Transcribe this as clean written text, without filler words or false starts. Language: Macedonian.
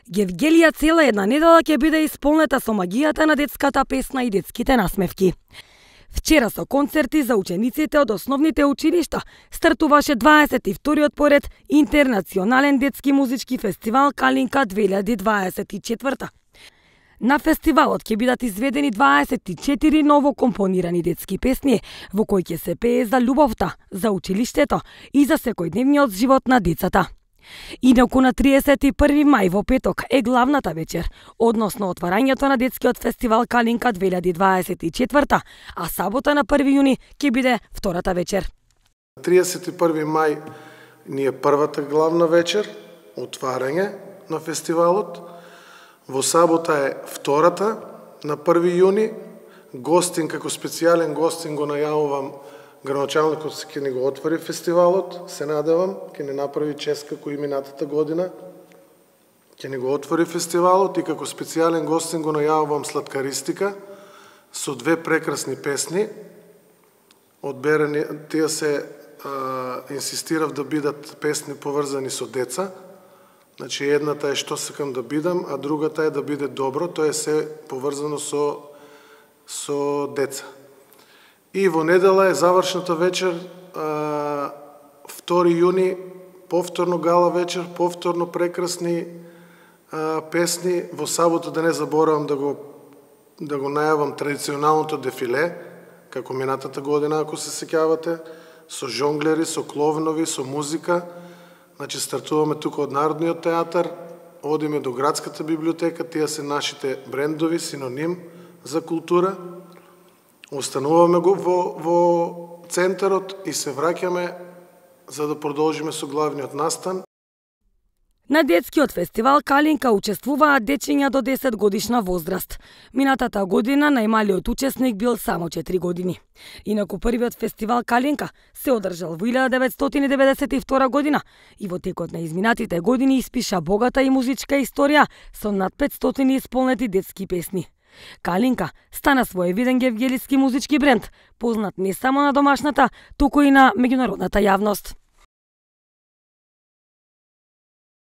Гевгелија цела една недела ќе биде исполнета со магијата на детската песна и детските насмевки. Вчера со концерти за учениците од основните училишта стартуваше 22-тиот поред Интернационален детски музички фестивал Калинка 2024. На фестивалот ќе бидат изведени 24 ново компонирани детски песни, во кои ќе се пее за љубовта, за училиштето и за секојдневниот живот на децата. Инаку на 31 мај во петок е главната вечер, односно отварањето на детскиот фестивал Калинка 2024, а сабота на 1 јуни ќе биде втората вечер. 31 мај ни е првата главна вечер, отварање на фестивалот. Во сабота е втората, на 1 јуни. Гостин, како специјален гостин го најавувам градоначалникот ќе ни го отвори фестивалот, се надевам, ќе ни направи чест како и минатата година. Ќе ни го отвори фестивалот и како специјален гостин го најавувам Сладкаристика со 2 прекрасни песни. Одберени, тие се инсистирав да бидат песни поврзани со деца. Значи едната е Што сакам да бидам, а другата е Да биде добро, тоа е се поврзано со деца. И во недела е завршната вечер, 2 јуни, повторно гала вечер, повторно прекрасни песни. Во сабота, да не заборавам да го најавам традиционалното дефиле, како минатата година, ако се сеќавате, со жонглери, со кловнови, со музика. Значи, стартуваме тука од Народниот театар, одиме до Градската библиотека, тие се нашите брендови, синоним за култура. Остануваме го во центарот и се враќаме за да продолжиме со главниот настан. На детскиот фестивал Калинка учествуваат дечиња до 10 годишна возраст. Минатата година најмалиот учесник бил само 4 години. Инаку првиот фестивал Калинка се одржал во 1992 година и во текот на изминатите години испиша богата и музичка историја со над 500 исполнети детски песни. Калинка стана своевиден гевгелиски музички бренд, познат не само на домашната, туку и на меѓународната јавност.